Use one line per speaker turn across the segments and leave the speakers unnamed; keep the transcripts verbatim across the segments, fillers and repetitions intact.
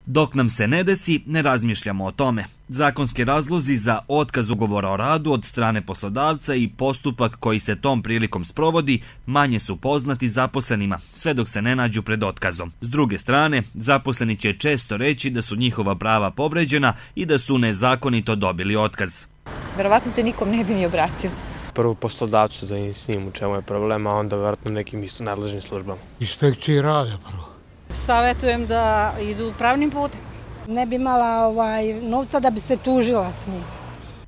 Dok nam se ne desi, ne razmišljamo o tome. Zakonski razlozi za otkaz ugovora o radu od strane poslodavca i postupak koji se tom prilikom sprovodi manje su poznati zaposlenima, sve dok se ne nađu pred otkazom. S druge strane, zaposleni će često reći da su njihova prava povređena i da su nezakonito dobili otkaz.
Verovatno se nikom ne bi ni obratili.
Prvo poslodavcu da im s njim u čemu je problem, a onda vjerojatno nekim isto nadležnim službama.
Inspekcije rada prvo.
Savjetujem da idu pravnim putem.
Ne bi imala ovaj, novca da bi se tužila s njim.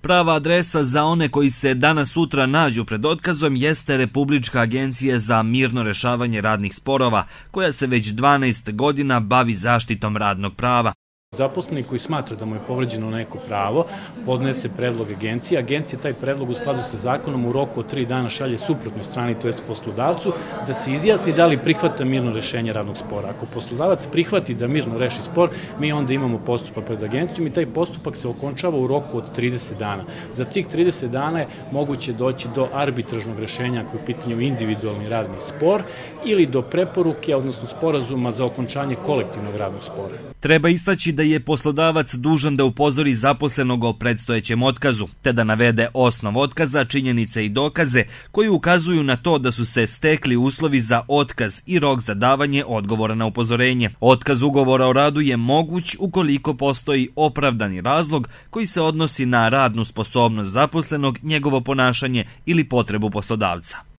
Prava adresa za one koji se danas sutra nađu pred otkazom jeste Republička agencija za mirno rešavanje radnih sporova, koja se već dvanaest godina bavi zaštitom radnog prava.
Zaposleni koji smatra da mu je povređeno neko pravo, podnese predlog agencije. Agencija taj predlog u skladu sa zakonom u roku od tri dana šalje suprotnoj strani, to jest poslodavcu, da se izjasni da li prihvata mirno rešenje radnog spora. Ako poslodavac prihvati da mirno reši spor, mi onda imamo postupak pred agencijom i taj postupak se okončava u roku od trideset dana. Za tih trideset dana je moguće doći do arbitražnog rešenja ako je u pitanju individualni radni spor ili do preporuke, odnosno sporazuma za okončanje kolektivnog radnog spora.
Treba istaći da je poslodavac dužan da upozori zaposlenog o predstojećem otkazu, te da navede osnov otkaza, činjenice i dokaze koji ukazuju na to da su se stekli uslovi za otkaz i rok za davanje odgovora na upozorenje. Otkaz ugovora o radu je moguć ukoliko postoji opravdani razlog koji se odnosi na radnu sposobnost zaposlenog, njegovo ponašanje ili potrebu poslodavca.